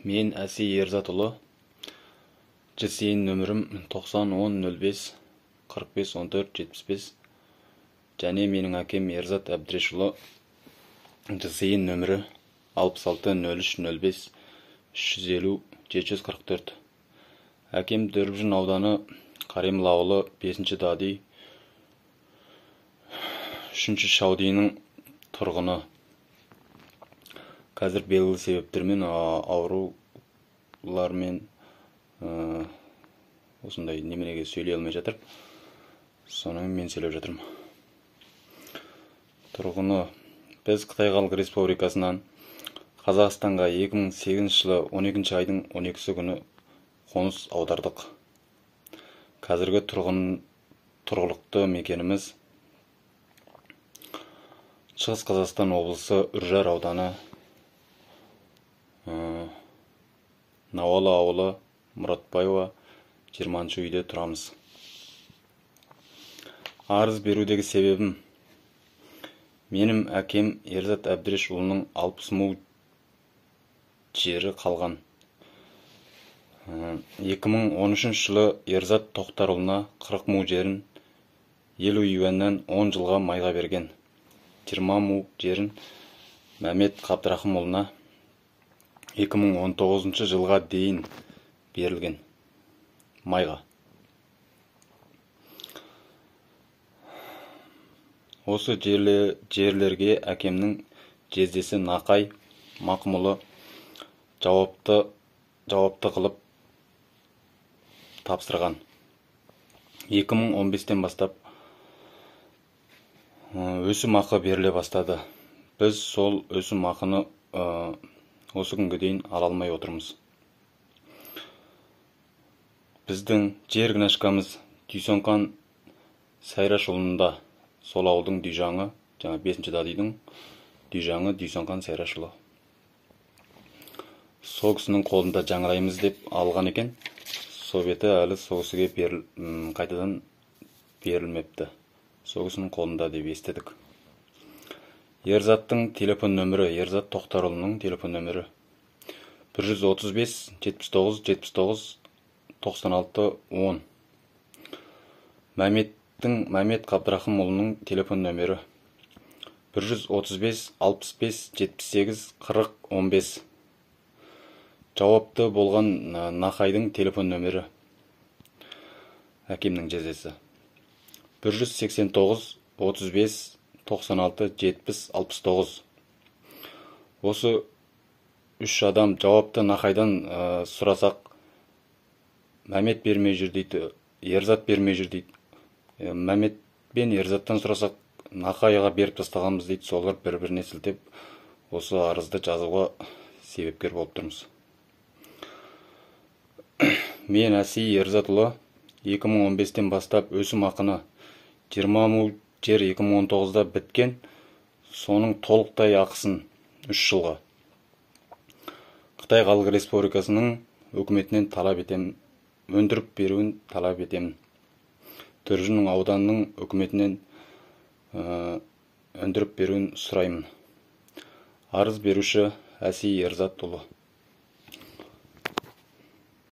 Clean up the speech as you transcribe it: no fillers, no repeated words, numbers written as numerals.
Мен Әсей Ерзатұлы. ЖСН нөмірім 90-10-05 45-14-75. Және менің әкем Ерзат Әбдірешұлы. ЖСН нөмірі 66-03-05 350-744. Әкем Дүрбіжін ауданы Қареміл ауылы 5-ші дади 3-ші шаудиының тұрғыны. Қазір белгілі себептермен аурулармен осындай неменеге сөйлей алмай жатыр. Соның мен сөйлеп жатырмын. Тұрғыны: біз Қытай Халық Республикасынан Қазақстанға 2008 жылы 12 айдың 12 күні қоныс аудардық. Қазіргі тұрғылықты мекеніміз Шығыс Қазақстан облысы Үржар ауданы, Науалы ауылы, Мұратбаева 20-ші үйде тұрамыз. Арыз берудегі себебім: менің әкем Ерзат Әбдірешұлының 60 му жері қалған. 2013 жылы Ерзат Тоқтарұлына 40 му жерін 50 юаннан 10 жылға майға берген. 20 му жерін Мәмет Қабдрахымұлына 2019 жылға дейін берілген майға. Осы жерлерге әкемнің жездесі Нақай Мақымұлы жауапты қылып тапсырған. 2015-тен бастап өсім ақы беріле бастады. Біз сол өсім ақыны осы күнге дейін ала алмай отырмыз. Біздің жер кінашкамыз Дүйсонқан Сайрашұлында. Сол ауылдың дүйжаңы, жаңа 5-ші дадидың дүйжаңы Дүйсонқан Сайрашұлы. Сол кісінің қолында жаңараймыз деп алған екен. Сол беті әлі сол кісіге қайтадан берілмепті. Сол кісінің қолында деп естедік. Ерзаттың телефон нөмірі, Ерзат Тоқтарұлының телефон нөмірі 135 79 79 96 10. Мәмет Қабдрахымұлының телефон нөмірі 135 65 78 40 15. Жауапты болған Нақайдың телефон нөмірі, әкемнің жездесі 189 35 96 70 69. Осы 3 адам жауапты Нақайдан сұрасақ, Мәмет бермей жүр дейді, Ерзат бермей жүр дейді. Мәмет пен Ерзаттан сұрасақ, Нақайға беріп тастағанбыз дейді. Солар бір-біріне сілтеп, осы арызды жазуға себепкер болып тұрмыз. Мен Әсей Ерзатұлы 2015-тен бастап өсім ақыны 20 му жер 2019-да біткен, соның толықтай ақысын 3 жылға Қытай Халық Республикасының өкіметінен талап етемін, өндіріп беруін талап етемін. Дүрбіжін ауданының өкіметінен өндіріп беруін сұраймын. Арыз беруші Әсей Ерзатұлы.